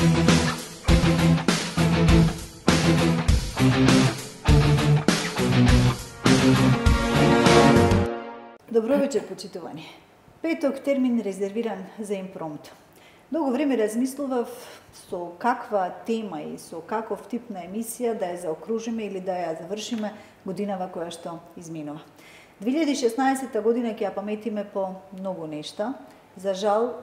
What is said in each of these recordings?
Добро вечер, почитувани. Петок термин резервиран за импромту. Долго време размислував со каква тема и со каков тип на емисија да ја заокружиме или да ја завршиме годинава која што изминува. 2016 година ќе ја паметиме по многу нешта. За жал,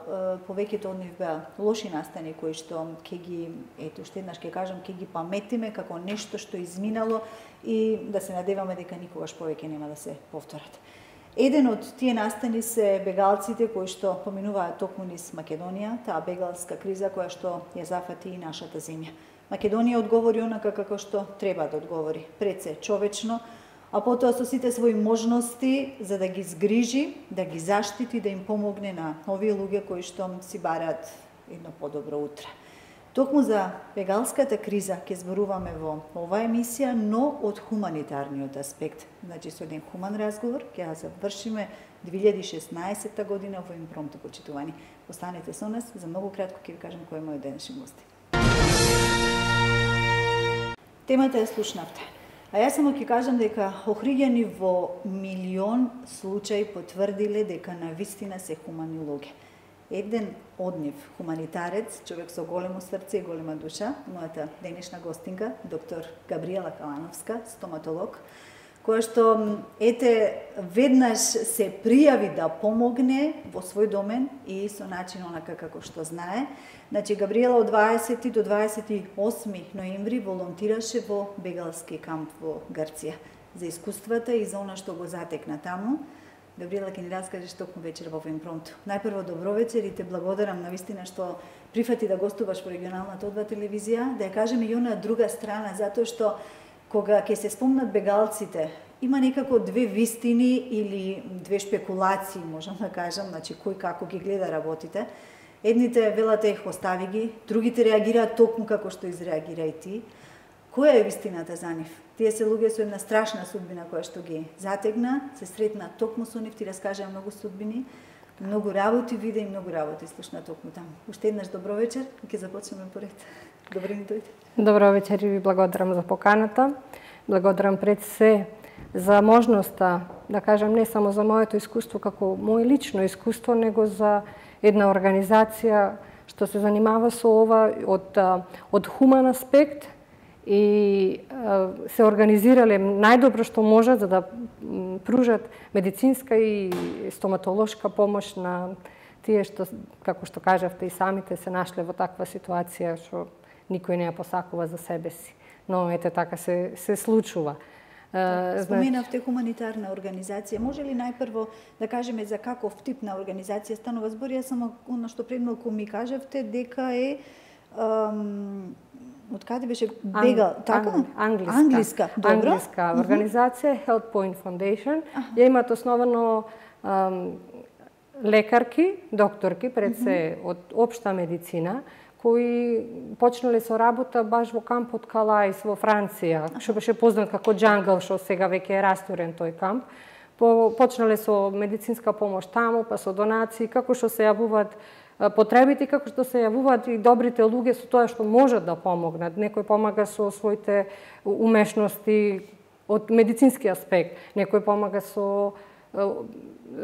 повеќето од нив беа лоши настани кои што ќе ги, ето уште еднаш ќе кажам, ќе ги паметиме како нешто што изминало и да се надеваме дека никогаш повеќе нема да се повторат. Еден од тие настани се бегалците кои што поминуваат токму низ Македонија, таа бегалска криза која што ја зафати и нашата земја. Македонија одговори онака како што треба да одговори, пред се човечно, а потоа со сите своји можности за да ги згрижи, да ги заштити, да им помогне на овие луѓе кои што си бараат едно подобро утре. Токму за бегалската криза ќе зборуваме во оваа емисија, но од хуманитарниот аспект. Значи, со еден хуман разговор ќе ја завршиме 2016 година во импромту, почитувани. Останете со нас, за многу кратко ќе ви кажам кој е мојот денешен гост. Темата ја слушнавте. А јас само ќе кажам дека охриѓани во милион случаи потврдиле дека навистина се хумани луѓе. Еден од нив, хуманитарец, човек со големо срце и голема душа, мојата денешна гостинка, доктор Габриела Калановска, стоматолог, која што, веднаш се пријави да помогне во свој домен и со начин онака како што знае. Значи, Габриела од 20 до 28 ноември волонтираше во бегалски камп во Грција за искуствата и за она што го затекна таму. Габриела ќе ни раскажеш токму вечер во импромту. Најпрво добро вечер и те благодарам навистина што прифати да гостуваш во регионалната одва телевизија, да ја кажеме и она друга страна, затоа што кога ќе се спомнат бегалците, има некако две вистини или две шпекулации, можам да кажам, значи кој како ги гледа работите. Едните велат ех, остави ги, другите реагираат токму како што изреагира и ти. Која е вистината за нив? Тие се луѓе со една страшна судбина која што ги затегна, се сретна токму со нив, ти раскажа многу судбини, многу работи виде и многу работи слушна токму таму. Уште еднаш добро вечер и ќе започнеме поред. Добро ни дојде. Добро вечер и ви благодарам за поканата. Благодарам пред се за можноста, да кажам, не само за моето искуство како моje лично искуство, него за една организација што се занимава со ова од хуман аспект и се организирале најдобро што можат за да пружат медицинска и стоматолошка помош на тие што, како што кажавте и самите, се нашле во таква ситуација што никој не ја посакува за себе си. Но ете така се случува. Споменавте хуманитарна организација. Може ли најпрво да кажеме за каков тип на организација станува збор? Јас само она што пред малку ми кажавте дека е од каде беше бегал, така? Англиска. Добро. Англиска организација, Health Point Foundation. Ја имат основано лекарки, докторки, пред се од општа медицина, кои почнале со работа баш во кампот Калаис во Франција, што беше познат како Джангл, што сега веќе е растурен тој камп. Почнале со медицинска помош таму, па со донации, како што се јавуваат потребите, како што се јавуваат и добрите луѓе со тоа што можат да помогнат. Некој помага со своите умешности од медицински аспект, некој помага со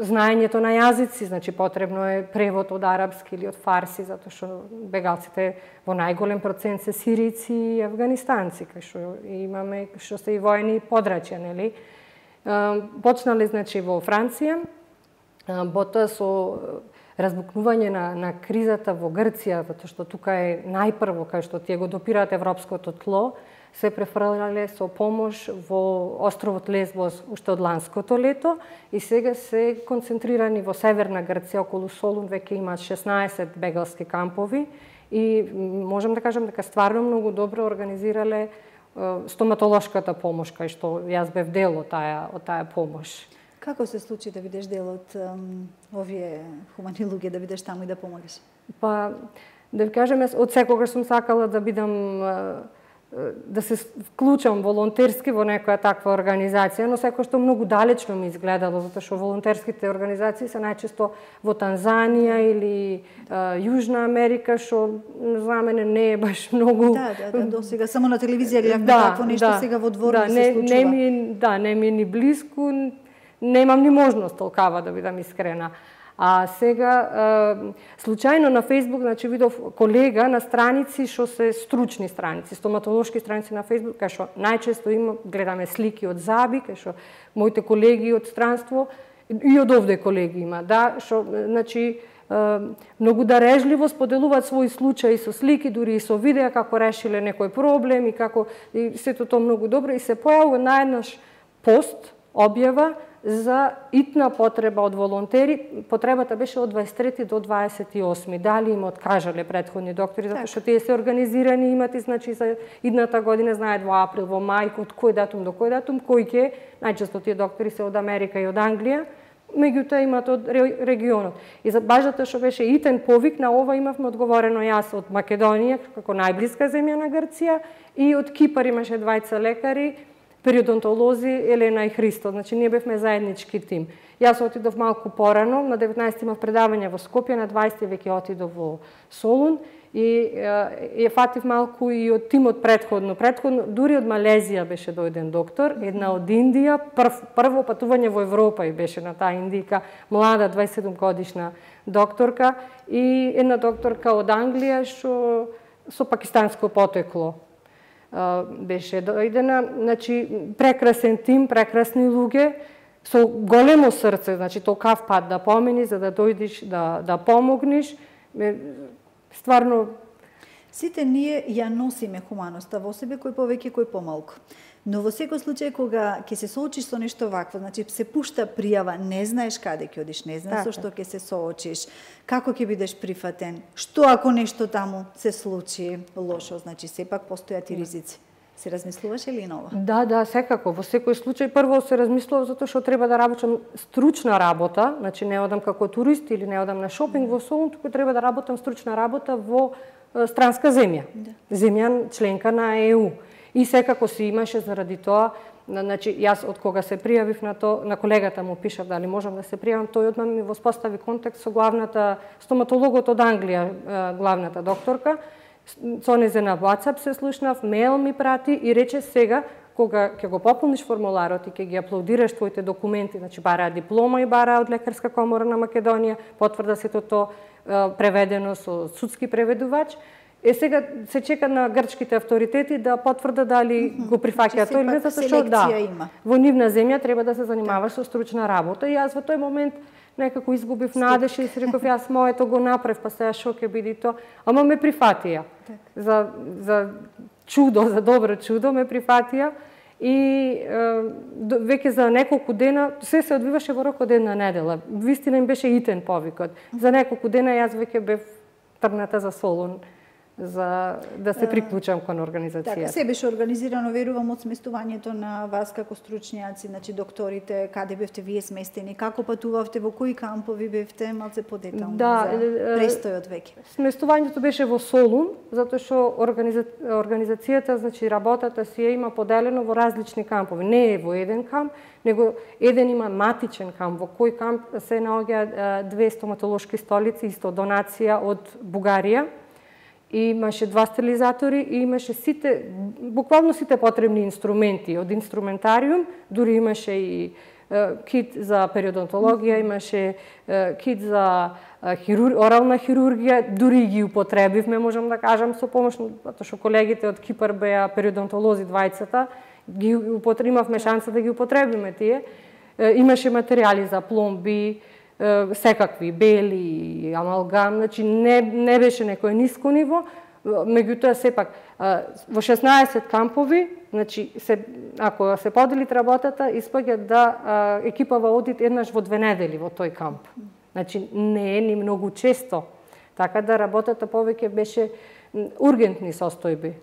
знаењето на јазици, значи потребно е превод од арапски или од фарси, затоа што бегалците во најголем процент се сирици и афганистанци, кај што имаме, што се и воени подрачја, нели? Почнале, значи, во Франција, потоа со разбукнување на кризата во Грција, затоа што тука е најпрво, кај што тие го допираат европското тло, се префрлале со помош во островот Лесбос уште од ланското лето и сега се концентрирани во северна Грција, околу Солун веќе имаат 16 бегалски кампови и можам да кажам дека стварно многу добро организирале стоматолошката помош, кај што јас бев дел од таа помош. Како се случи да бидеш дел од овие хумани луѓе, да бидеш таму и да помагаш? Па, да ви кажам, јас од секогаш сум сакала да бидам да се вклучам волонтерски во некоја таква организација, но секој што многу далечно ми изгледало, затоа што волонтерските организации се најчесто во Танзанија или Јужна Америка, што за мене не е баш многу... До сега само на телевизија гледавме такво нешто, сега во двор не се случува. Не ми е ни близко, немам ни можност толкава да бидам искрена. А сега, случајно на Фейсбук, значи видов колега на страници што се стручни страници, стоматолошки страници на Фейсбук, кај што најчесто гледаме слики од заби, кај што моите колеги од странство и од овде колеги има, што, значи, многу дарежливо споделуваат своји случаи со слики, дури и со видеа како решиле некој проблем и како и сето тоа многу добро и се појавува наеднаш пост, објава за итна потреба од волонтери. Потребата беше од 23 до 28. Дали им откажале претходни доктори, затоа што тие се организирани, имат и значи за идната година, знаат во април, во мај, од кој датум до кој датум, кој ќе, најчесто тие доктори се од Америка и од Англија, меѓутоа имат од регионот. И за баш затоа што беше итен повик, на ова имавме одговорено јас од Македонија, како најблиска земја на Грција, и од Кипар имаше двајца лекари, периодонтолози Елена и Христо, значи ние бевме заеднички тим. Јас отидов малку порано, на 19 имав предавање во Скопје, на 20 веќе отидов во Солун и ја фатив малку и од тимот претходно, дури од Малезија беше дојден доктор, една од Индија, прво патување во Европа и беше на таа индика, млада 27 годишна докторка и една докторка од Англија што со пакистанско потекло беше дојдена, значи прекрасен тим, прекрасни луѓе, со големо срце, значи толкав пат да помени за да дојдеш да помогнеш, стварно. Сите ние ја носиме хуманоста во себе, кој повеќе, кој помалку. Но во секој случај кога ќе се соочиш со нешто вакво, значи се пушта пријава, не знаеш каде ќе одиш, не знаеш со што ќе се соочиш, како ќе бидеш прифатен, што ако нешто таму се случи лошо, значи сепак постојат и ризици. Се размислуваше ли на ова? Да, секако. Во секој случај прво се размислував затоа што треба да работам стручна работа, значи не одам како турист или не одам на шопинг во Солун, туку треба да работам стручна работа во странска земја. Земја членка на ЕУ. И секако си имаше заради тоа, значи јас од кога се пријавив на колегата му пишав дали можам да се пријавам, тој одма ми воспостави контакт со главната стоматологот од Англија, главната докторка. Со незе на WhatsApp се слушнав, мејл ми прати и рече сега кога ќе го пополниш формуларот и ќе ги аплодираш твоите документи, значи бараа диплома и бараа од Лекарска комора на Македонија, потврда сето тоа преведено со судски преведувач. Сега се чека на грчките авторитети да потврда дали го прифаќаат тој или не, затоа што во нивна земја треба да се занимаваш со стручна работа и јас во тој момент некако изгубив надеж и си реков јас моето го направив, па сега шо ќе биде тоа, ама ме прифатија. За чудо, за добро чудо ме прифатија и веќе за неколку дена се одвиваше во рок од една недела. Вистина им беше итен повикот. За неколку дена јас веќе бев тргната за Солун за да се приклучам кон организацијата. Така, се беше организирано, верувам, од сместувањето на вас како стручњаци, значи докторите, каде бевте вие сместени, како патувавте, во кои кампови бевте, малце подетално за престојот веќе. Сместувањето беше во Солун, затоа што организацијата, значи работата си има поделено во различни кампови. Не е во еден камп, него еден има матичен камп, во кој камп се наоѓаат две стоматолошки столици, исто донација од Бугарија. Имаше два стерилизатори и имаше буквално сите потребни инструменти, од инструментариум, дури имаше и кит за периодонтологија, имаше кит за орална хирургија, дури ги употребивме, можам да кажам, со помош, затоа што колегите од Кипар беа периодонтолози двајцата, имавме шанса да ги употребиме тие. Имаше материјали за пломби, секакви, бели, амалгам, значи не беше некој ниско ниво, меѓутоа сепак во 16 кампови, значи ако се подели работата, испаѓа да екипава оди еднаш во 2 недели во тој камп. Значи не е ни многу често, така да работата повеќе беше ургентни состојби.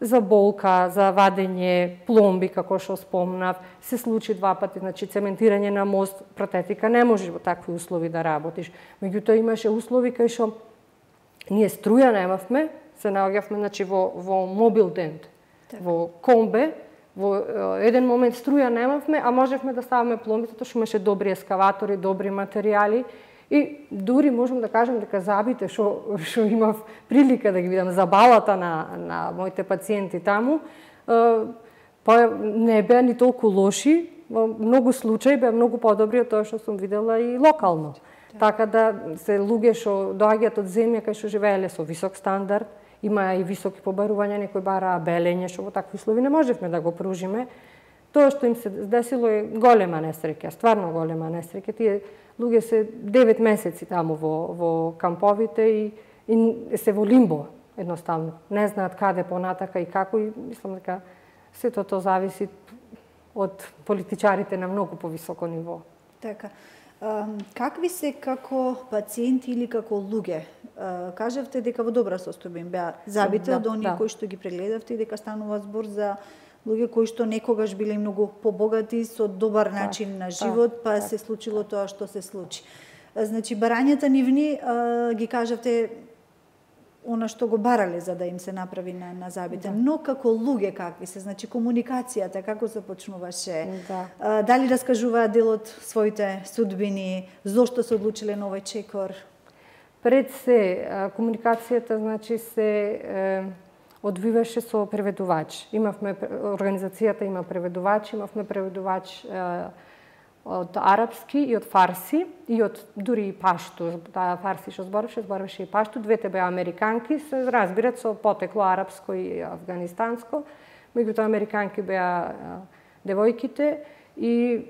За болка, за вадење пломби, како што спомнав, се случи 2 пати, значи цементирање на мост, протетика, не можеш во такви услови да работиш. Меѓутоа имаше услови кај што ние струја немавме, се наоѓавме значи во мобил дент, во комбе, во еден момент струја немавме, а можевме да ставаме пломби, затоа што имаше добри ескаватори, добри материјали и дури можам да кажам дека забите што имав прилика да ги видам, забавата на моите пациенти таму, не беа ни толку лоши, во многу случаи беа многу подобри од тоа што сум видела и локално. Така да се луѓе што доаѓаат од земја кај што живееле со висок стандард, има и високи побарувања, некои бараа белење, што во такви услови не можевме да го пружиме. Тоа што им се десило е голема несреќа, стварно голема несреќа. Тие луѓе се 9 месеци таму во камповите и се во лимбо, едноставно. Не знаат каде понатака и како, и мислам дека сето тоа зависи од политичарите на многу повисоко ниво. Така. Какви се како пациенти или како луѓе? Кажавте дека во добра состојба им беа забите од оние кои што ги прегледавте и дека станува збор за луѓе кои што некогаш биле многу побогати со добар начин на живот, па се случило тоа што се случи. Значи, барањата нивни ги кажавте она што го барале за да им се направи на забите. Но како луѓе какви се? Значи, комуникацијата како започнуваше? Дали раскажуваат дел од своите судбини? Зошто се одлучиле на овој чекор? Пред се, комуникацијата значи се одвиваше со преведувач. Организацијата има преведувач, имавме преведувач од арапски и од фарси и од дури и пашту. Таа фарси што збореше и пашту. Двете беа американки, се разбират со потекло арапско и афганистанско. Меѓутоа американки беа девојките и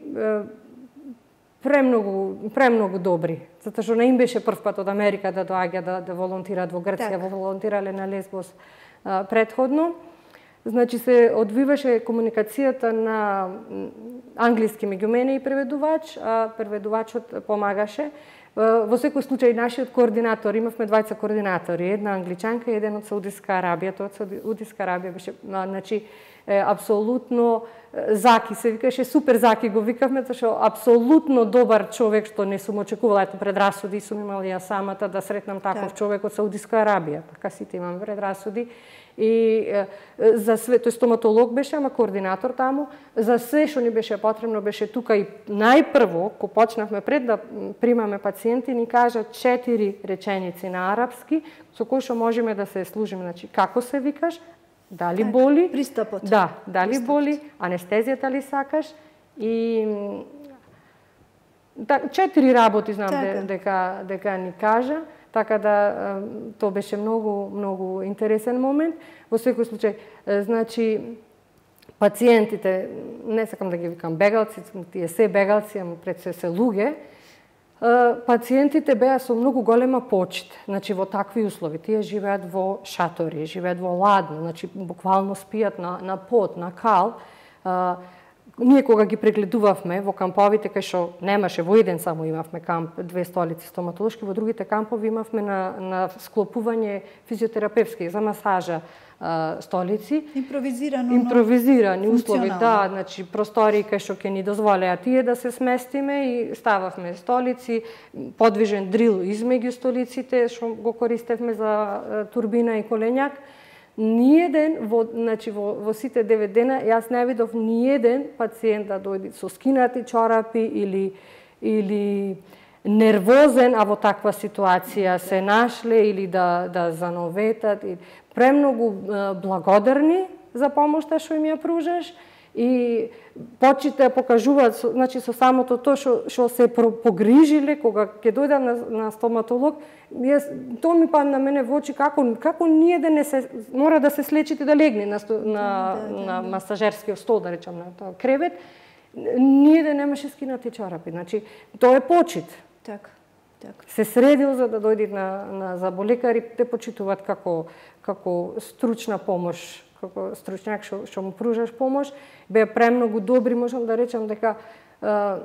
премногу добри. Затоа што не им беше прв пат од Америка да доаѓа да волонтираат во Грција, волонтирале на Лесбос предходно. Значи се одвиваше комуникацијата на англиски меѓу мене и преведувач, а преведувачот помагаше. Во секој случај нашиот координатор, имавме двајца координатори, една англичанка и еден од Саудиска Арабија. Тоа од Саудиска Арабија беше, значи, апсолутно Заки се викаше, супер Заки го викавме, тоа што апсолутно добар човек, што не сум очекувала, ето предрасуди сум имала ја самата да сретнам таков човек од Саудиска Арабија, така сите имаме предрасуди. И за све, тој стоматолог беше, ама координатор таму, за све што ни беше потребно беше тука и најпрво, кога почнавме пред да примаме пациенти, ни кажа 4 реченици на арапски, со кои што можеме да се служиме, значи како се викаш, дали боли, пристапот. Дали боли, анестезијата ли сакаш и 4 работи знам дека ни кажа. Така да тоа беше многу интересен момент. Во секој случај, значи пациентите, не сакам да ги викам бегалци, тие се бегалци, ама пред се луѓе, пациентите беа со многу голема почит, значи во такви услови. Тие живеат во шатори, живеат во ладно, значи буквално спијат на пот, на кал. Ние кога ги прегледувавме во камповите, кај што немаше, во еден само имавме камп, 2 столици стоматолошки, во другите кампови имавме на склопување физиотерапевски за масажа столици. Импровизирани услови, значи простори кај што ќе ни дозволеа тие да се сместиме и стававме столици, подвижен дрил измеѓу столиците, што го користевме за турбина и коленјак. Ниеден, во сите 9 дена, јас не видов ниеден пациент да дојде со скинати чорапи или нервозен, а во таква ситуација се нашле или да зановетат. Премногу благодарни за помошта што им ја пружаш и почите покажуваат, значи со самото тоа што се погрижиле кога ќе дојдам на стоматолог, тоа ми падна мене во очи како ниеден не се мора да се слечите да легне на масажерскиот стол, да речам, на тоа кревет, ниеден немаше скинати чорапи. Значи тоа е почит. Така. Се средил за да дојде на заболекари, те почитуваат како стручна помош, како стручњак што му пружаш помош. Беа премногу добри, можам да речам дека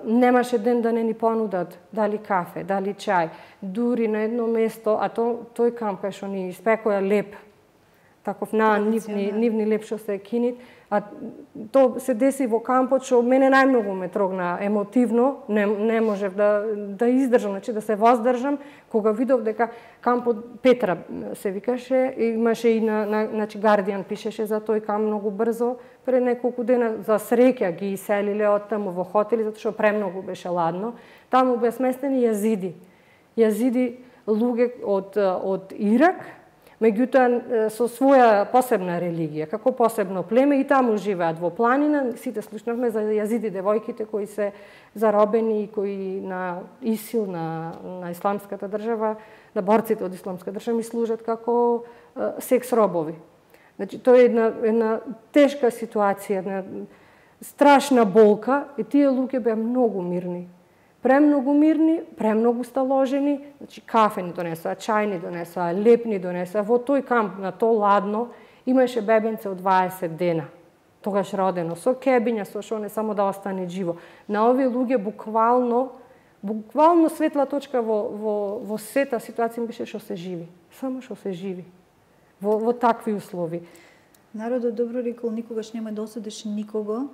немаше ден да не ни понудат дали кафе, дали чај. Дури на едно место, а тој камп кај што ни испекоја леп, таков нивни лепшо се кинит, а то се деси во кампот што мене најмногу ме трогна емотивно, не можев да издржам, значи да се воздржам кога видов дека кампот Петра се викаше, имаше и значи Guardian пишеше за тој камп многу брзо, пред неколку дена за среќа ги иселиле од таму во хотели затоа што премногу беше ладно. Таму беа сместени јазиди луѓе од Ирак, меѓутоа со своја посебна религија, како посебно племе и таму живеат во планина. Сите слушнавме за јазиди девојките кои се заробени и кои на ИСИЛ, на исламската држава, на борците од исламска држава ми служат како секс робови. Значи тоа е една тешка ситуација, една страшна болка и тие луѓе беа многу мирни. Премногу мирни, премногу сталожени, значи кафе ни донесоа, чај ни донесоа, леп ни донесоа. Во тој камп, на то ладно, имаше бебенце од 20 дена. Тогаш родено, со кебиња, со шо не само да остане живо. На овие луѓе буквално светла точка во сета ситуација беше што се живи. Само што се живи. Во такви услови. Народот добро рекол, никогаш нема да осудиш никого.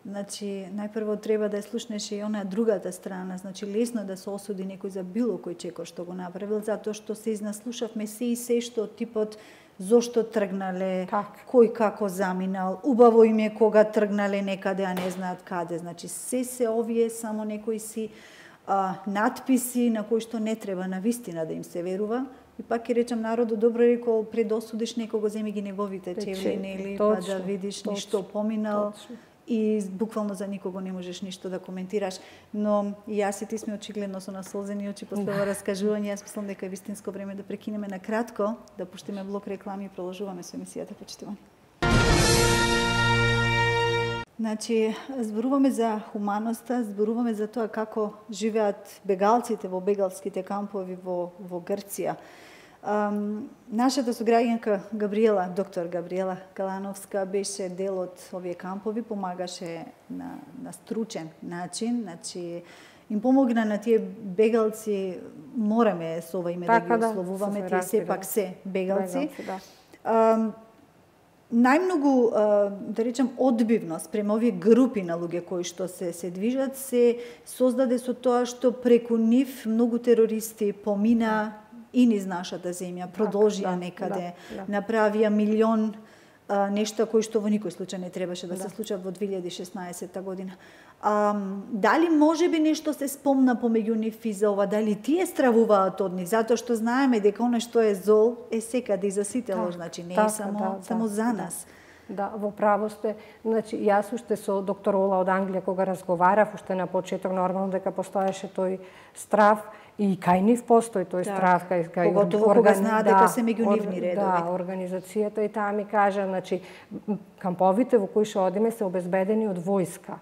Значи, најпрво треба да ја слушнеш и онаа другата страна. Значи, лесно да се осуди некој за било кој чекор што го направил, затоа што се изнаслушавме се и се што типот зошто тргнале, кој како заминал, убаво им е кога тргнале некаде, а не знаат каде. Значи, се овие само некои си надписи на кои што не треба на вистина да им се верува. И пак ќе речам, народот добро рекол, пред да осудиш некого, земи ги неговите чевли, нели, па да видиш ништо поминал. И буквално за никого не можеш ништо да коментираш. Но и јас и ти сме очигледно со насолзени очи после ова раскажување. Јас мислам дека е вистинско време да прекинеме на кратко, да пуштиме блок реклами и продолжуваме со емисијата, почитувани. Значи, зборуваме за хуманоста, зборуваме за тоа како живеат бегалците во бегалските кампови во Грција. Нашата сограѓанка Габриела, доктор Габриела Калановска, беше дел од овие кампови, помагаше на стручен начин, значи им помогна на тие бегалци, мораме со ова име да ги ословуваме, тие сепак се бегалци. Најмногу, да речем, одбивност према овие групи на луѓе кои што се движат, се создаде со тоа што преку нив многу терористи помина и низ нашата земја, продолжија некаде, направија милион нешта кои што во никој случај не требаше да се случат во 2016 година. Дали може би нешто се спомна помеѓу нив и за ова, дали тие стравуваат од нив, затоа што знаеме дека оно што е зол е секаде и за сите лош, значи не е само за нас. Да, во право сте. Значи, јас уште со доктор Ола од Англија кога разговарав, уште на почеток нормално дека постоеше тој страв и кај нив постои тој страв, кај поготово кога знаат дека се меѓу нивни редови. Да, организацијата и таа ми кажа, значи камповите во кои што одиме се обезбедени од војска.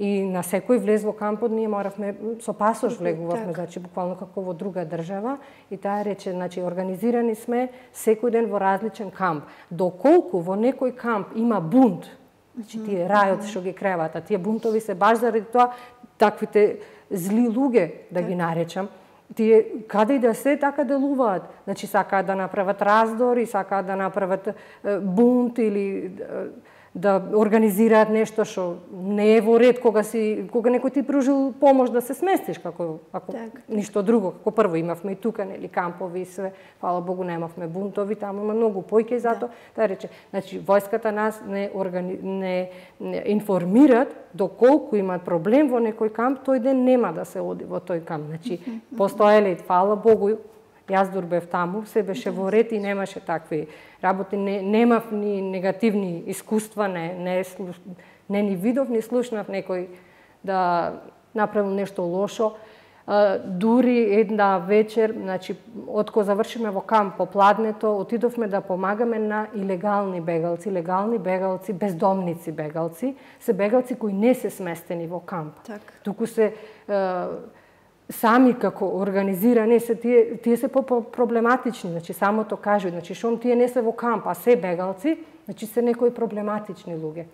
И на секој влез во кампот ние моравме со пасош влегувавме, значи буквално како во друга држава, и таа рече, значи организирани сме секој ден во различен камп. Доколку во некој камп има бунт, значи тие рајот што ги креват, а тие бунтови се баш заради тоа таквите зли луѓе, да ги наречам, тие каде и да се така делуваат. Значи сакаат да направат раздор и сакаат да направат бунт или да организираат нешто што не е во ред кога некој ти пружил помош да се сместиш, ако ништо друго. Како прво имавме и тука нели кампови и све, фала Богу немавме бунтови, таму има многу појки затоа. Таа рече, значи војската нас не информираат доколку имаат проблем во некој камп, тој ден нема да се оди во тој камп. Значи постоеле, фала Богу, јас дурбев таму, се беше во ред и немаше такви работи, немав ни негативни искуства, не ни видов, ни слушнав некој да направил нешто лошо. Дури една вечер, значи, откога завршиме во камп попладнето, отидовме да помагаме на илегални бегалци, бездомници бегалци, се бегалци кои не се сместени во камп. Туку се сами како организирани се тие се проблематични, значи самото кажу, значи шом тие не се во камп, а се бегалци, значи се некои проблематични луѓе.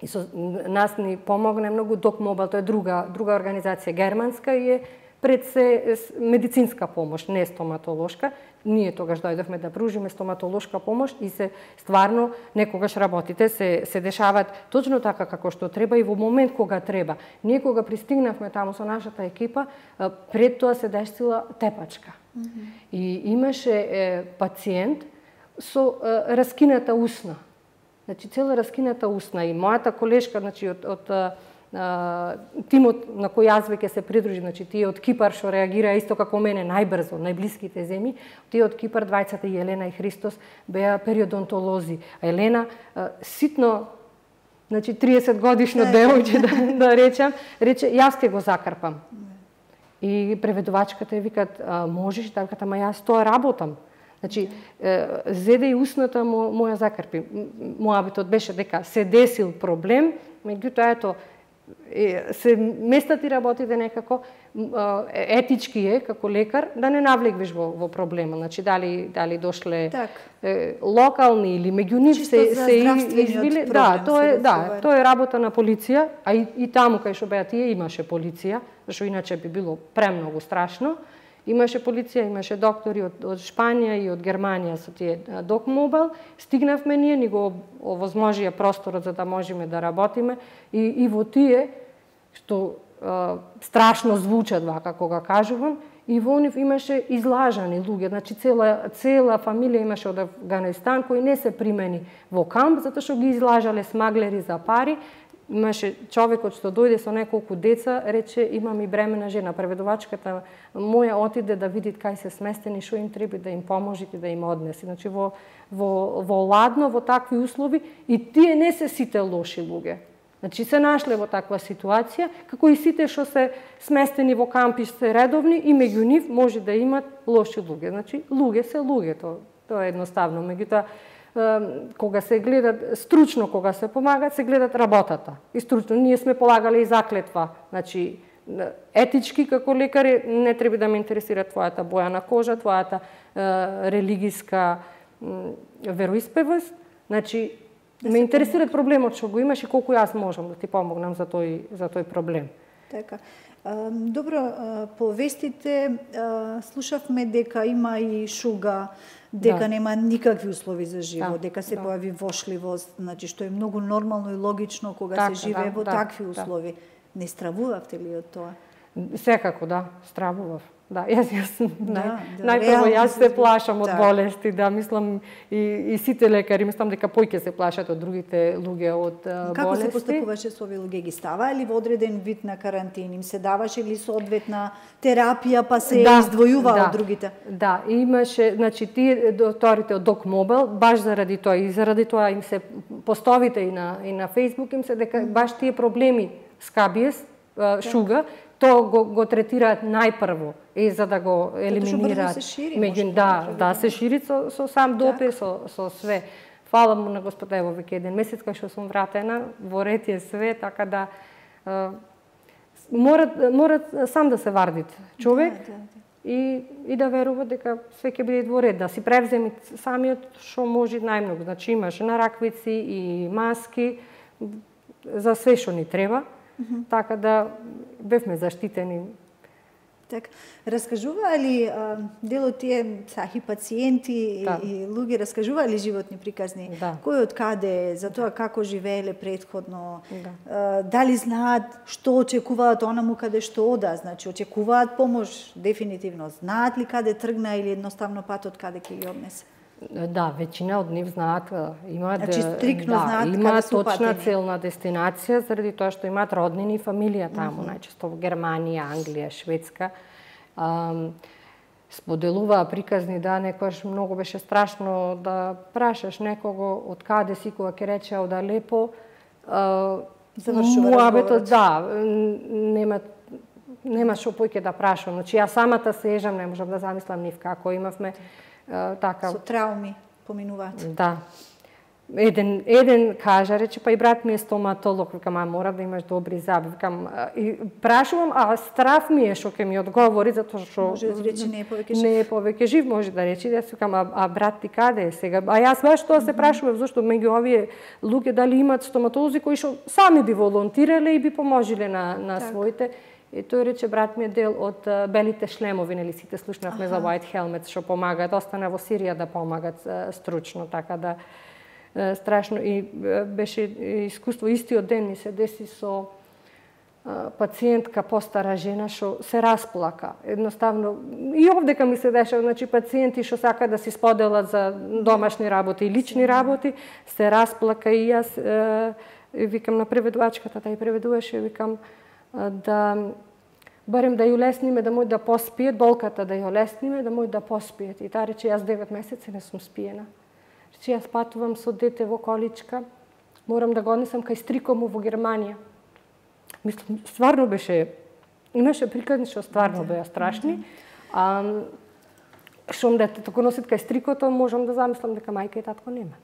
И со нас ни помогне многу Док Мобил, тоа е друга организација германска и е пред се медицинска помош, не стоматолошка. Ние тогаш дојдовме да пружиме стоматолошка помош и се стварно некогаш работите се дешаваат точно така како што треба и во момент кога треба. Ние кога пристигнавме таму со нашата екипа, пред тоа се десила тепачка. И имаше пациент со раскината усна. Значи цела раскината усна и мојата колешка, значи од тимот на кој јас веќе се придружи, значи тие од Кипар што реагира исто како мене најбрзо, најблиските земји, тие од Кипар, двајцата Елена и Христос беа периодонтолози. А Елена ситно, значи 30 годишно девојче да речам, рече јас ќе го закрпам. И преведувачката викат можеш, да викат, ама јас тоа работам. Значи, зеде и усната моја закрпи. Мојабитот беше дека се десил проблем, меѓутоа ето се местати работите некако етички е како лекар да не навлегвиш во проблема. Значи дали дошле локални или меѓу нив се извиле, тоа е работа на полиција, а и таму кај што беа тие имаше полиција, зашто иначе би било премногу страшно. Имаше полиција, имаше доктори од Шпанија и од Германија со тие DocMobile. Стигнавме ние, ни го овозможија просторот за да можеме да работиме и во тие, што страшно звучат вака кога кажувам, и во нив имаше излажани луѓе, значи цела фамилија имаше од Афганистан кои не се примени во камп, затоа што ги излажале смаглери за пари. Имаше човекот што дојде со неколку деца, рече имам и бремена жена. Преведувачката моја отиде да види кај се сместени, што им треба да им поможите да им однеси. Значи во ладно, во такви услови, и тие не се сите лоши луѓе. Значи се нашле во таква ситуација, како и сите што се сместени во кампи се редовни и меѓу нив може да имат лоши луѓе. Значи луѓе се луѓе, тоа е едноставно. Меѓутоа кога се гледат стручно, кога се помагат, се гледат работата. И стручно ние сме полагале и заклетва. Значи етички како лекари не треба да ме интересира твојата боја на кожа, твојата религиска вероисповест. Значи ме интересира проблемот што го имаш и колку јас можам да ти помогнам за тој проблем. Така. Добро, по вестите слушавме дека има и шуга, дека нема никакви услови за живот, дека се појави вошливост, значи што е многу нормално и логично кога се живее во такви услови. Не стравувавте ли од тоа? Секако стравував. Јас најпрво јас се плашам од болести, мислам и сите лекари, мислам дека поќе се плашат од другите луѓе од болести. Како се постапуваше со овие луѓе? Ги ставаа ли во одреден вид на карантин? Им се даваше ли соодветна терапија, па се издвојува од другите? Да, имаше, значи тие докторите од DocMobile, баш заради тоа и заради тоа им се постовите и на Facebook им се дека баш тие проблеми скабиес, шуга, тоа го третираат најпрво и за да го елиминираат. Се шири со сам допир, со све. Фала му на Господа, ево веќе еден месец кога што сум вратена, во ред е све, така да морат сам да се вардит човек и да верува дека све ќе биде во ред, да си превземи самиот што може најмногу. Значи имаш на раквици и маски за све што ни треба. Така да бевме заштитени. Така, раскажуваа ли дел од тие сахи пациенти и луѓе раскажуваа ли животни приказни? Кој од каде, за тоа како живееле претходно? Дали знаат што очекуваат онаму каде што ода? Значи очекуваат помош дефинитивно. Знаат ли каде тргна или едноставно патот каде ќе ги однесе? Да, веќина од нив знаат, имаат точна целна дестинација, заради тоа што имаат роднини и фамилија таму, најчесто во Германија, Англија, Шведска. Споделуваа приказни, некојаш многу беше страшно да прашаш некого од каде си, кога ќе рече ода лепо. Завршува разговорот. Нема што поќе да прашам. Значи, јас самата се ежам, не можам да замислам нив како имавме. Со трауми поминуваат. Да. Еден кажа, рече, па и брат ми е стоматолог, викам, мора да имаш добри заби. Викам, и прашувам, страв ми е што ќе ми одговори, затоа што може да рече не е повеќе жив, може да рече. Јас викам, брат ти каде е сега? Јас баш тоа се прашував, зашто меѓу овие луѓе дали имаат стоматолози кои што сами би волонтирале и би поможиле на своите. И тој рече, брат ми е дел од белите шлемови, нели сите слушнавме за White Helmets, што помагаат, остана во Сирија да помагат стручно, така да страшно. И беше искуство, истиот ден ми се деси со пациентка, постара жена, што се расплака. Едноставно, и овдека ми се деша, значи пациенти што сака да си споделат за домашни работи и лични работи, се расплака и јас викам на преведувачката, тај преведуваше, викам да барем да ја улесниме, да може да поспиет, болката да ја улесниме, да може да поспиет. И таа рече, јас 9 месеци не сум спиена. Рече, јас патувам со дете во количка, морам да го однесам кај стрикому во Германија. Мислам, стварно беше, имаше приказни што стварно беа страшни. Шом дете го носит кај стрикото, можам да замислам дека мајка и татко немат.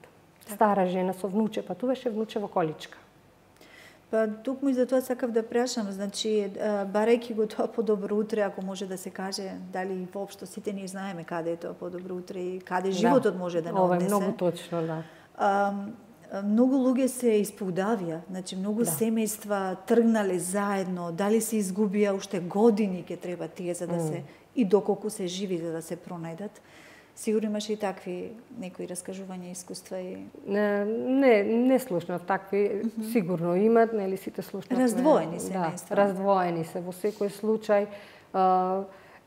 Стара жена со внуче, патуваше внуче во количка. Па тукму и за тоа сакав да прашам, значи барајќи го тоа подобро утре, ако може да се каже, дали воопшто сите ние знаеме каде е тоа подобро утре и каде животот може да не однесе. Ова е многу точно, да. Многу луѓе се испудавија, значи многу семејства тргнале заедно, дали се изгубија уште години ќе треба тие за да се и доколку се живи за да се пронајдат. Сигурно имаше и такви некои раскажувања, искуства и не слушнав такви, сигурно имат, нели сите слушнавме. Раздвоени семејства. Да, раздвоени се во секој случај.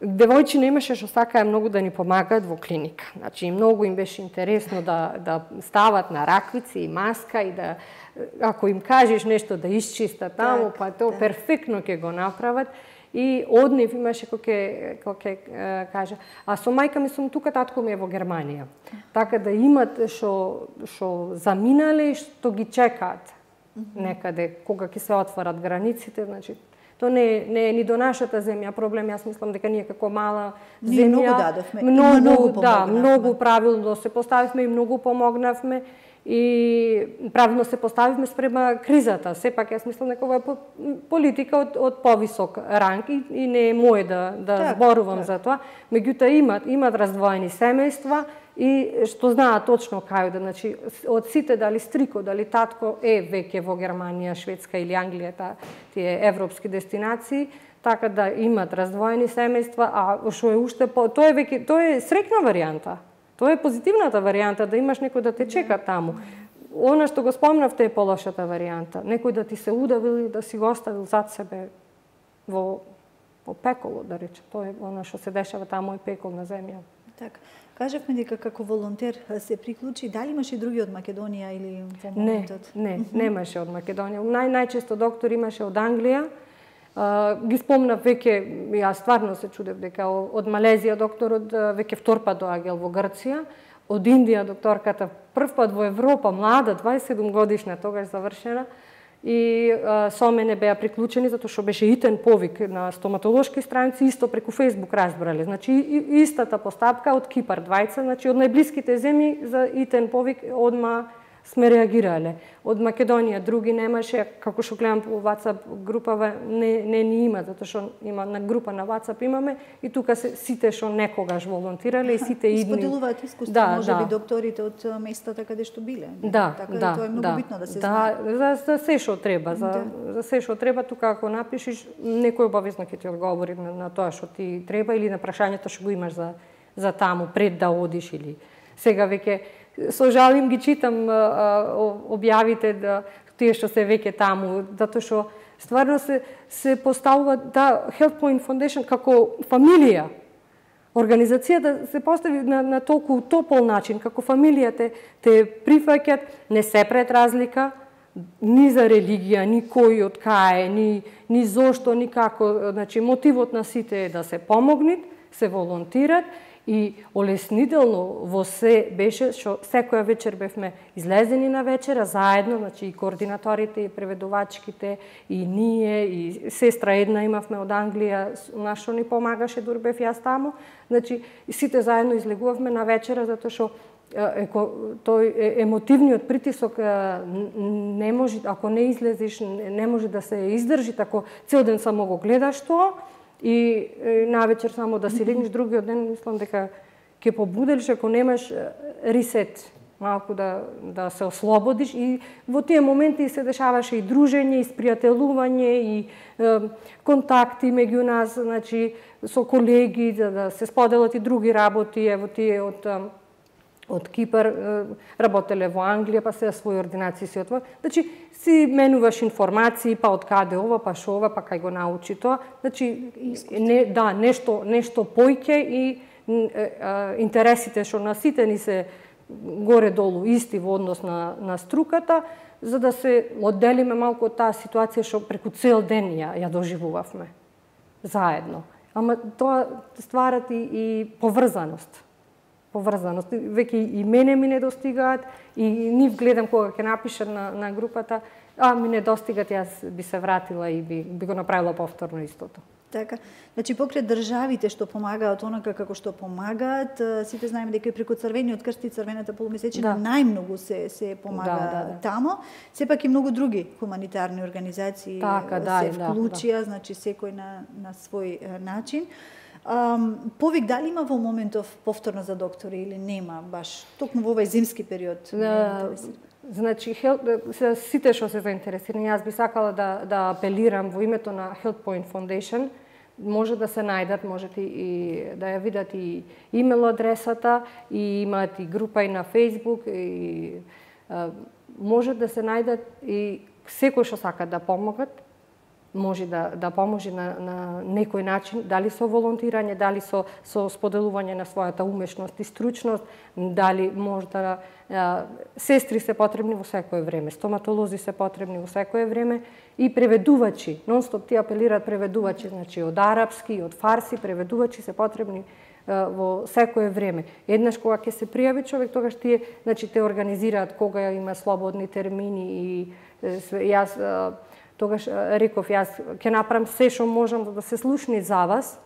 Девојчиња имаше што сакаа многу да ни помагаат во клиника. Значи, многу им беше интересно да стават на раквици и маска и да, ако им кажеш нешто да исчистат таму, па тоа перфектно ќе го направат. И од нив имаше кој ќе кажа, а со мајка ми сум тука, татко ми е во Германија. Така да имат што заминале и што ги чекаат некаде, кога ќе се отворат границите, значи тоа не е ни до нашата земја проблем, јас мислам дека ние како мала земја многу дадовме, многу правилно се поставивме и многу помогнавме и правилно се поставивме спрема кризата. Сепак јас мислам дека ова е политика од повисок ранг и не е моје да зборувам за тоа. Меѓутоа имат раздвоени семејства и што знаат точно кај да, значи од сите дали стрико, дали татко е веќе во Германија, Шведска или Англија, тие европски дестинации, така да имат раздвоени семејства, а што е уште тоа е среќна варијанта. Тоа е позитивната варијанта, да имаш некој да те чека таму. Она што го спомнавте е полошата варијанта. Некој да ти се удавил и да си го оставил зад себе во пеколо, да рече. Тоа е она што се дешава таму, е пекол на земја. Така. Кажавме дека како волонтер се приклучи, дали имаше и други од Македонија или во моментот? Не, немаше од Македонија. Најчесто доктор имаше од Англија. Ги спомнав веќе, јас стварно се чудев дека од Малезија докторот веќе втор пат доаѓал во Грција, од Индија докторката прв пат во Европа, млада, 27 годишна, тогаш завршена, и со мене беа приклучени затоа што беше итен повик на стоматолошки страници, исто преку Facebook разбрале. Значи истата постапка од Кипар двајца, значи од најблиските земји за итен повик одма сме реагирале. Од Македонија други немаше, како што гледам по WhatsApp групава не ни има, затоа што има на група на WhatsApp имаме и тука се сите што некогаш волонтирале и сите идни. Споделуваат искуство, можеби докторите од местата каде што биле. Така тоа е многу битно да се знае. Да, за се што треба, за се што треба, тука ако напишеш, некој обавезно ќе ти одговори на тоа што ти треба или на прашањето што го имаш за таму пред да одиш или сега веќе со жалим ги читам објавите тие што се веќе таму, затоа што стварно се поставува Health Point Foundation како фамилија. Организацијата се постави на толку топол начин, како фамилија те прифаќат, не се пред разлика, ни за религија, ни кој од кај, ни зошто, ни како. Значи, мотивот на сите е да се помогнат, се волонтират, и олеснително во се беше што секоја вечер бевме излезени на вечера заедно, значи и координаторите, и преведувачките, и ние, и сестра една имавме од Англија, нашо ни помагаше, дури бев јас таму. Значи сите заедно излегувавме на вечера затоа што тој емотивниот притисок не може, ако не излезеш, не може да се издржи, ако цел ден само го гледаш тоа. И навечер само да си легнеш, другиот ден мислам дека ќе побуделиш ако немаш ресет, малку да се ослободиш и во тие моменти се дешаваше и дружење, и спријателување, и контакти меѓу нас, значи со колеги, да се споделат и други работи, ево тие од Кипар работеле во Англија, па се своји ординации си отвор. Значи, си менуваш информации, па од каде ова, па шо ова, па кај го научи тоа. Значи, нешто појќе и интересите што на сите ни се горе-долу исти во однос на струката, за да се одделиме малку од таа ситуација што преку цел ден ја доживувавме заедно. Ама тоа стварат и поврзаност. Веќе и мене ми не достигаат, и нив гледам кога ќе напишат на групата, ми не достигат, јас би се вратила и би го направила повторно истото. Така, значи покрај државите што помагаат онака како што помагаат, сите знаеме дека и преку Црвениот крст и Црвената полумесечина најмногу се помага тамо. Сепак и многу други хуманитарни организации се вклучија, значи секој на свој начин. Повик дали има во моментов повторно за доктори или нема, баш токму во овој зимски период? Значи, сите што се заинтересирани, јас би сакала да апелирам во името на Health Point Foundation, може да се најдат, можете и да ја видат и имейл адресата, и имаат и група и на Facebook, и може да се најдат и секој што сака да помогат, може да поможи на некој начин, дали со волонтирање, дали со споделување на својата умешност и стручност, дали можда сестри се потребни во секое време, стоматолози се потребни во секое време и преведувачи, нон-стоп ти апелираат преведувачи, значи од арапски, од фарси, преведувачи се потребни во секое време. Еднаш кога ќе се пријави човек, тогаш тие, значи те организираат кога има слободни термини и јас тогаш реков, јас ќе направам се што можам да се слушни за вас,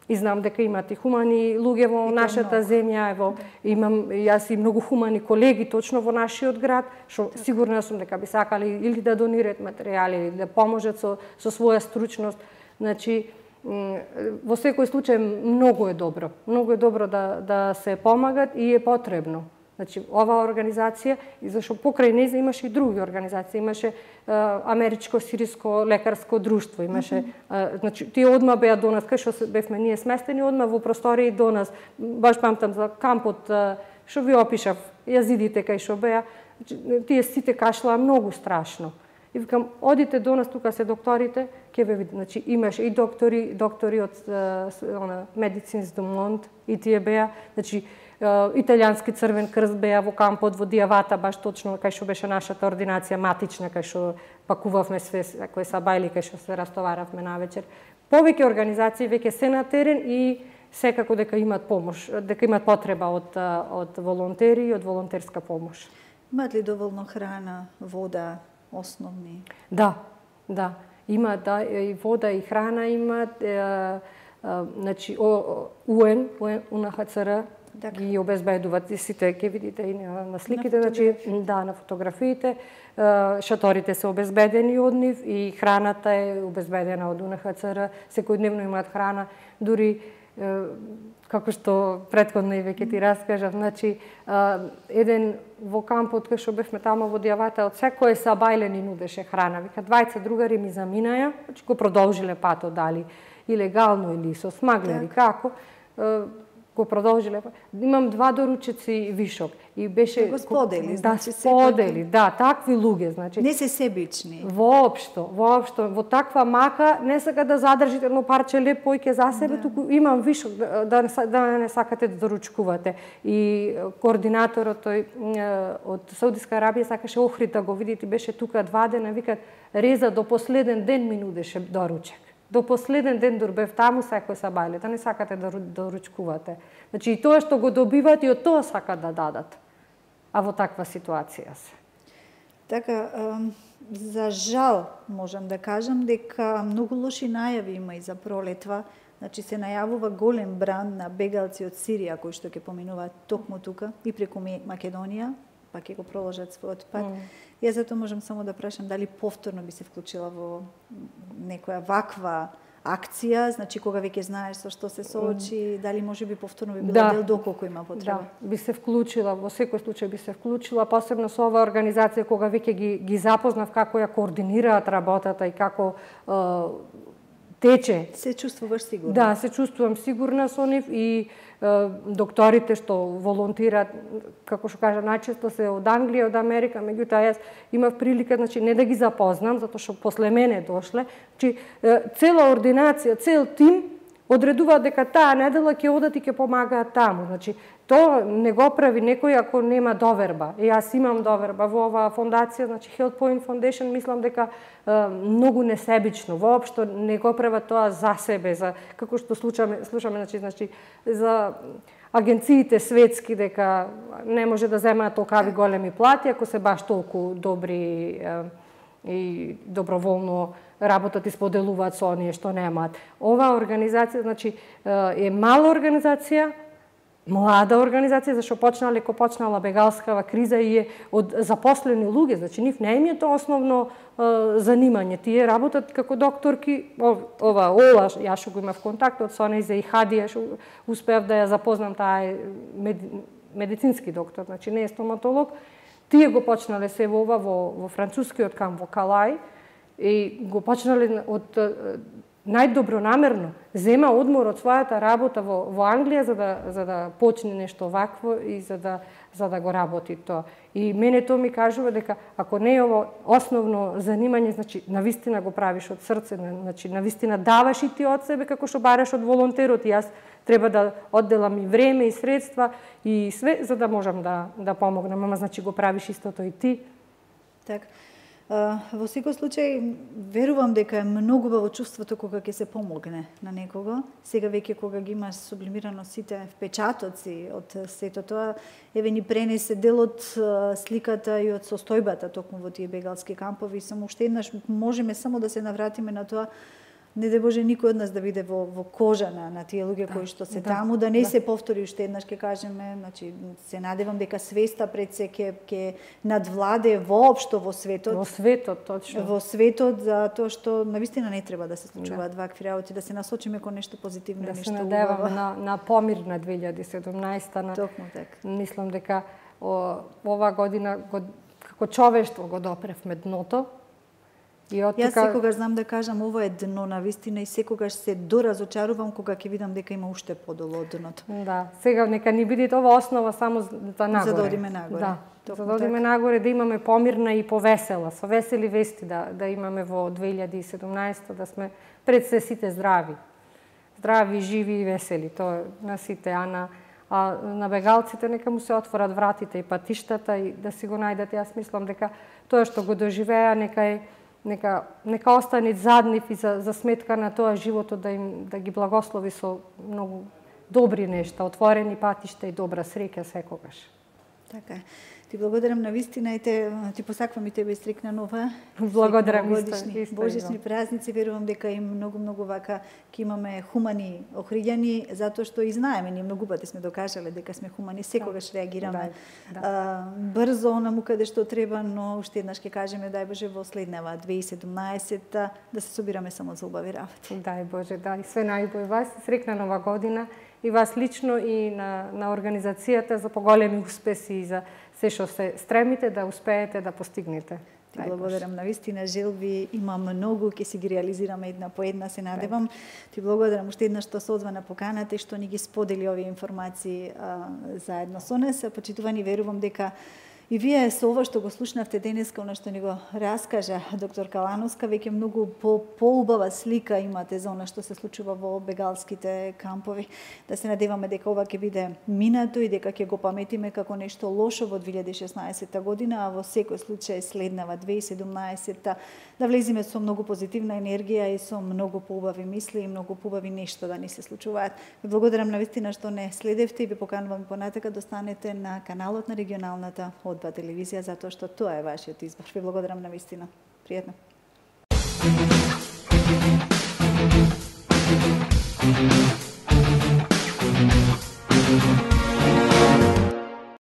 и знам дека имат и хумани луѓе во нашата земја, ево, имам јас и многу хумани колеги точно во нашиот град, што сигурна сум дека би сакали или да донираат материјали, или да поможат со своја стручност. Значи, во секој случај многу е добро да се помагат и е потребно. Значи, оваа организација, и зашто покрај нејза имаше и други организации, имаше Америчко-сириско лекарско друштво, имаше, значи, тие одма беа до нас, кај што бевме ние сместени, одма во простории до нас, баш памтам за кампот, што ви опишав, јазидите кај што беа, тие сите кашлаа многу страшно. И викам, одите до нас, тука се докторите, ќе ве видите, значи, имаше и доктори од Медицинс до Монт, и тие беа, значи, Италијански Црвен крст беа во кампот во Дијавата, баш точно кај што беше нашата ординација матична, кај што пакувавме све кои са бајли, кај што се растоваравме навечер. Повеќе организации веќе се на терен и секако дека имаат помош, дека имаат потреба од волонтери и од волонтерска помош. Имаат ли доволно храна, вода, основни? Да. Имаат и вода и храна имаат, значи УНХЦР ги обезбедуваат, сите ќе видите и на сликите, значи на фотографиите, шаторите се обезбедени од нив и храната е обезбедена од УНХЦР, секојдневно имаат храна, дури како што претходно и веќе ти раскажав, значи еден во кампот кај што бевме тамо во Дијавата, од секој сабајле ни нудеше храна, вика двајца другари ми заминаја, значи го продолжиле патот, дали илегално или со смаглери, како го продолжиле. Имам 2 доручици вишок и беше го сподели, значи сподели, такви луѓе, значи не се себични. Воопшто, во таква мака не сака да задржите едно парче леп појќе за себе, туку имам вишок да не сакате да доручкувате. И координаторот тој од Саудиска Арабија сакаше Охрид да го видите, беше тука 2 дена, викат реза до последен ден ми нудеше доручек. До последен ден дорбев таму секој сабајле, да не сакате да доручкувате. Значи и тоа што го добиват и од тоа сакат да дадат. А во таква ситуација се. Така, за жал можам да кажам дека многу лоши најави има и за пролетва. Значи се најавува голем бран на бегалци од Сирија кои што ќе поминуваат токму тука и преку Македонија, па ќе го проложат својот пат. Јас затоа можам само да прашам дали повторно би се вклучила во некоја ваква акција, значи кога веќе знаеш со што се соочи, дали може би повторно би било дел доколку има потреба? Да, би се вклучила, во секој случај би се вклучила, посебно со оваа организација кога веќе ги запознав како ја координираат работата и како тече. Се чувствуваш сигурна? Да, се чувствувам сигурна со нив и докторите што волонтираат, како што кажа, најчесто се од Англија, од Америка, меѓутоа јас имав прилика, значи, не да ги запознам, затоа што после мене дошле, значи, цела ординација, цел тим одредуваат дека таа недела ќе одат и ќе помагаат таму. Значи, тоа не го прави некој ако нема доверба. И јас имам доверба во оваа фондација, значи Health Point Foundation, мислам дека многу несебично, воопшто не го прават тоа за себе, за како што слушаме, значи за агенциите светски дека не може да земаат толкави големи плати ако се баш толку добри и доброволно работат и споделуваат со оние што немаат. Оваа организација, значи, е мала организација, млада организација, зашто почнала бегалскава криза и е од запослени луѓе, значи нив не им е тоа основно занимање. Тие работат како докторки, ова Ола, јас што го имав контакт со неја и Хадија, што успеав да ја запознам, таа е медицински доктор, значи не е стоматолог. Тие го почнале се во францускиот камп во Калај и го почнале од најдобронамерно, зема одмор од својата работа во Англија за да почне нешто вакво и за да го работи тоа. И мене тоа ми кажува дека ако не е ово основно занимање, значи навистина го правиш од срце, значи навистина даваш и ти од себе како што бараш од волонтерот. И јас треба да одделам и време и средства и све за да можам да помогнам, ама значи го правиш истото и ти. Така. Во секој случај, верувам дека е многу убаво чувството кога ќе се помогне на некого. Сега веќе кога ги имаш сублимирано сите впечатоци од сето тоа, еве ни пренесе дел од сликата и од состојбата токму во тие бегалски кампови. Само уште еднаш можеме само да се навратиме на тоа, не да Боже никој од нас да биде во кожа на тие луѓе кои што се таму, да не се повтори уште еднаш, ќе кажеме, значи се надевам дека свеста пред се ќе надвладе воопшто во светот. Во светот, точно. Во светот, за тоа што навистина не треба да се случуваат вакви работи, да се насочиме кон нешто позитивно, да нешто убаво. Да се надеваме на помирна 2017. Токму така. Мислам дека оваа година како човештво го допревме дното. Јас секогаш знам да кажам, ова е дно на вистина и секогаш се доразочарувам кога ќе видам дека има уште подолу од дното. Да, сега нека ни биде ова основа само за нагоре. За да одиме нагоре. Да, за да одиме нагоре, да имаме помирна и повесела, со весели вести да имаме во 2017, да сме пред се сите здрави. Здрави, живи и весели, тоа на сите, а на бегалците нека му се отворат вратите и патиштата и да си го најдат. Јас мислам дека тоа што го доживеа нека остане зад нив и за сметка на тоа животот да ги благослови со многу добри нешта, отворени патишта и добра среќа секогаш. Така е. Ти благодарам на вистина и ти посаквам и тебе стрикна нова. Благодарам божични празници. Верувам дека и многу вака ќе имаме хумани охриѓани, затоа што и знаеме, ние многу пати сме докажале дека сме хумани, секогаш реагираме брзо онаму каде што треба, но уште еднаш ќе кажеме дај Боже во следнава 2017 да се собираме само за убави работи. Дај Боже, да, и све најубаво. Вас срекна нова година и вас лично и на организацијата за поголеми успеси и за се што се стремите да успеете да постигнете. Ти благодарам на вистина, желби има многу, ќе си ги реализираме една по една, се надевам. Ти благодарам уште еднаш што се одва на поканата и што ни ги сподели овие информации заедно со нас. Почитувани, верувам дека и вие со ова што го слушнавте денеска, она што ни го раскажа доктор Калановска, веќе многу поубава слика имате за она што се случува во бегалските кампови. Да се надеваме дека ова ќе биде минато и дека ќе го паметиме како нешто лошо во 2016 година, а во секој случај следнава 2017 да влезиме со многу позитивна енергија и со многу поубави мисли и многу поубави нешто да ни се случуваат. Ви благодарам на вистина што не следевте и ви поканувам понатака да останете на каналот на регионалната Одба телевизија, затоа што тоа е вашиот избор. Ви благодарам на вистина. Пријатно.